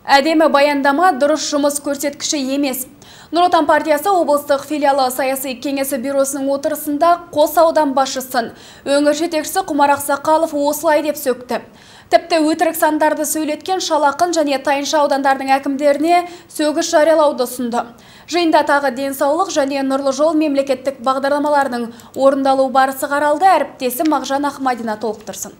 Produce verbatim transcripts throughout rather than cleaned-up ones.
Әдемі баяндама дұрыс жұмыс көрсеткіші емес. Нұр Отан партиясы облыстық филиалы саяси кеңесі бюросының отырысында Қос аудан басшысын өңір жетекшісі Құмар Ақсақалов осылай деп сөкті. Тіпті өтірік сандарды сөйлеткен Шалақын және Тайынша аудандардың әкімдеріне сөгіс жариялауды ұсынды. Жиында тағы денсаулық және нұрлы жол мемлекеттік бағдарламаларының орындалу барысы қаралды. Әріптесі Мағжан Ахмадина толықтырсын.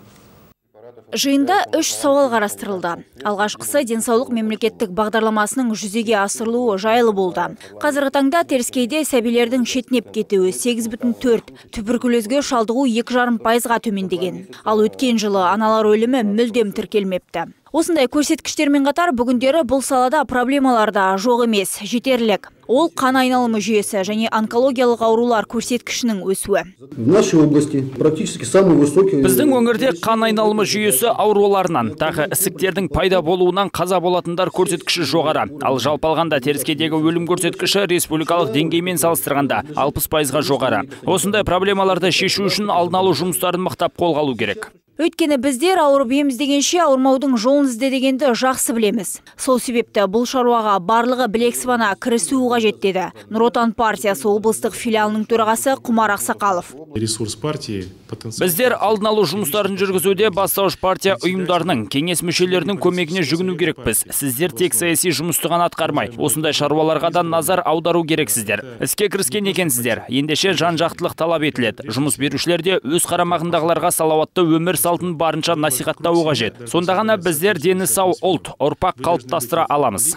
Жиында үш сауал қарастырылды. Алғашқысы денсаулық мемлекеттік бағдарламасының жүзеге асырылуы жайлы болды. Қазіргі таңда Теріскейде сәбилердің шетінеп кетуі сегіз бүтін төрт, туберкулезге шалдығу екі жарым пайызға төмендеген. Ал өткен жылы аналар өлімі мүлдем тіркелмепті. Осындай көрсеткіштермен қатар бүгіндері бұл салада проблемаларда жоқ емес, жетерлік. Ол қан айналымы жүйесі және онкологиялық аурулар көрсеткішінің өсуі. Біздің өңірде қан айналымы жүйесі ауруларынан, тағы ісіктердің пайда болуынан қаза болатындар көрсеткіші жоғары. Ал жалпы алғанда Теріскейдегі өлім көрсеткіші республикалық деңгеймен салыстырғанда алпыс пайызға жоғары. Осындай проблемаларды шешу үшін алдын алу жұмыстарын мықтап қолға алу керек. Өйткені біздер ауырып ем іздегенше ауырмаудың жолын ізде дегенді жақсы білеміз. Сол себепті бұл шаруаға барлығы білек сыбана кірісуі қажет деді Нұр Отан партиясы облыстық филиалының төрағасы Құмар Ақсақалов. Біздер алдын алу жұмыстарын жүргізуде бастауыш партия ұйымдарының, кеңес мүшелерінің көмегіне жүгіну керекпіз. Сіздер тек саяси жұмысты ғана атқармай, осындай шаруаларға да назар аудару керексіздер. Іске кіріскен екенсіздер. Ендеше жан-жақтылық талап етіледі. Жұмыс берушілерде өз қарамағындағыларға салауатты өмір салтын барынша насихаттауы қажет. Сонда ғана біздер дені сау ұлт, ұрпақ қалыптастыра аламыз.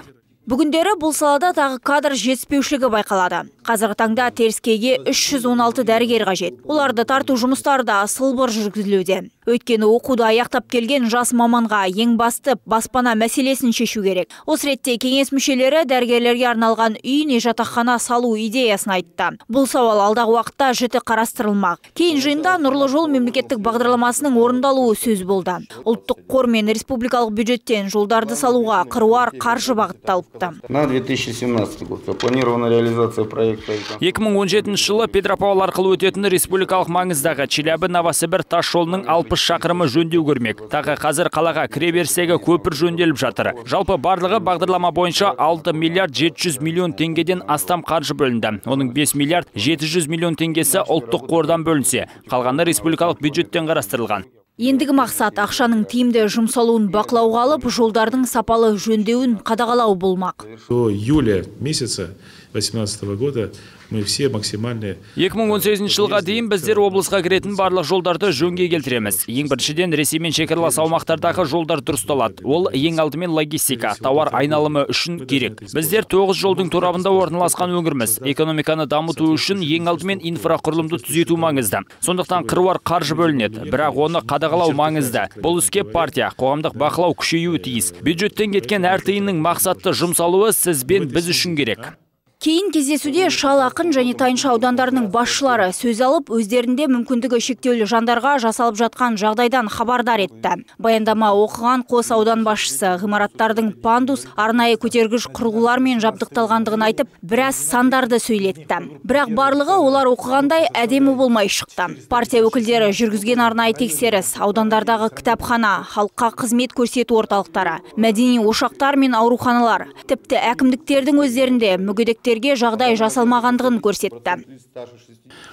Бүгіндері бұл салада тағы кадр жетіспеушілігі байқалады. Қазіргі таңда Теріскейге үш жүз он алты дәрігер қажет. Оларды тарту жұмыстары да сылбыр жүргізілуде. Өйткені оқуды аяқтап келген жас маманға ең басты баспана мәселесін шешу керек. Осы ретте кеңес мүшелері дәрігерлерге арналған үй не жатақхана салу идеясын айтты. Бұл сауал алдағы уақытта жіті қарастырылмақ. Кейін жиында нұрлы жол мемлекеттік бағдарламасының орындалуы сөз болды. Ұлттық қор мен республикалық бюджеттен жолдарды салуға қыруар қаржы бағытталыпты. На две тысячи семнадцатый год запланирована реализация проекта. екі мың он жетінші жылы Петропавл арқылы өтетін республикалық маңыздағы Челябі-Новосібір тас жолының алпыс шақырымы жөндеу көрмек. Тағы қазір қалаға кіреберістегі көпір жөнделіп жатыр. Жалпы барлығы бағдарлама бойынша алты миллиард жеті жүз миллион теңгеден астам қаржы бөлінді. Оның бес миллиард жеті жүз миллион теңгесі ұлттық қордан бөлінсе, қалғаны республикалық бюджеттен қарастырылған. Ендігі мақсат ақшаның тиімді жұмсалуын бақылауға алып, жолдардың сапалы жөндеуін қадағалау болмақ. До июля месяца две тысячи восемнадцатого года мы все максимальные. екі мың он сегізінші жылға дейін біздер облысқа кіретін барлық жолдарды жөнге келтіреміз. Ең біріншіден Ресеймен шекаралас аумақтардағы жолдар дұрысталады. Ол ең алдымен логистика, тауар айналымы үшін керек. Біздер тоғыз жолдың торабында орналасқан өңірміз. Экономиканы дамыту үшін ең алдымен инфрақұрылымды түзету маңызды. Сондықтан қыруар қаржы бөлінеді, бірақ оны қадағалау маңызды. Бұл іске партия, қоғамдық бақылау күшеюі тиіс. Бюджеттен кеткен әр тиынның мақсатты жұмсалуы сіз бен біз үшін керек. Кейін кездесуде Шалақын және Тайынша аудандарының басшылары сөз алып, өздерінде мүмкіндігі шектеулі жандарға жасалып жатқан жағдайдан хабардар етті. Баяндама оқыған Қос аудан басшысы ғимараттардың пандус, арнайы көтергіш құрылғылармен жабдықталғандығын айтып, біраз сандарды сөйлетті. Бірақ барлығы олар оқығандай әдемі болмай шықты. Партия өкілдері жүргізген арнайы тексеріс, аудандардағы кітапхана, халыққа қызмет көрсету орталықтары, мәдени ошақтар мен ауруханалар, тіпті әкімдіктердің өздерінде мүгедектер жағдай жасалмағандығын көрсетті.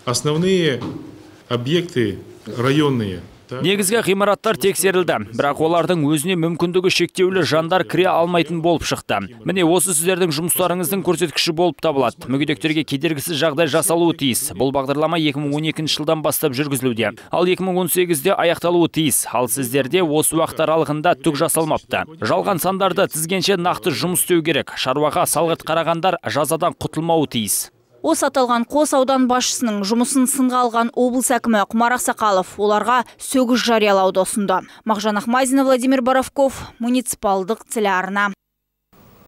Основные объекты районные. Негізгі ғимараттар тексерілді, бірақ олардың өзіне мүмкіндігі шектеулі жандар кіре алмайтын болып шықты. Міне осы сіздердің жұмыстарыңыздың көрсеткіші болып табылады. Мүгедектерге кедергісіз жағдай жасалуы тиіс. Бұл бағдарлама екі мың он екінші жылдан бастап жүргізілуде. Ал екі мың он сегізде аяқталуы тиіс. Ал сіздерде осы уақыт аралығында түк жасалмапты. Жалған сандарды тізгенше нақты жұмыс істеу керек. Шаруаға салғырт қарағандар жазадан құтылмауы тиіс. Осы аталған Қос аудан басшысының жұмысын сынға алған облыс әкімі Құмар Ақсақалов оларға сөгіс жариялауды ұсынды. Мағжан Ахмадина, Владимир Боровков, муниципалдық телеарна.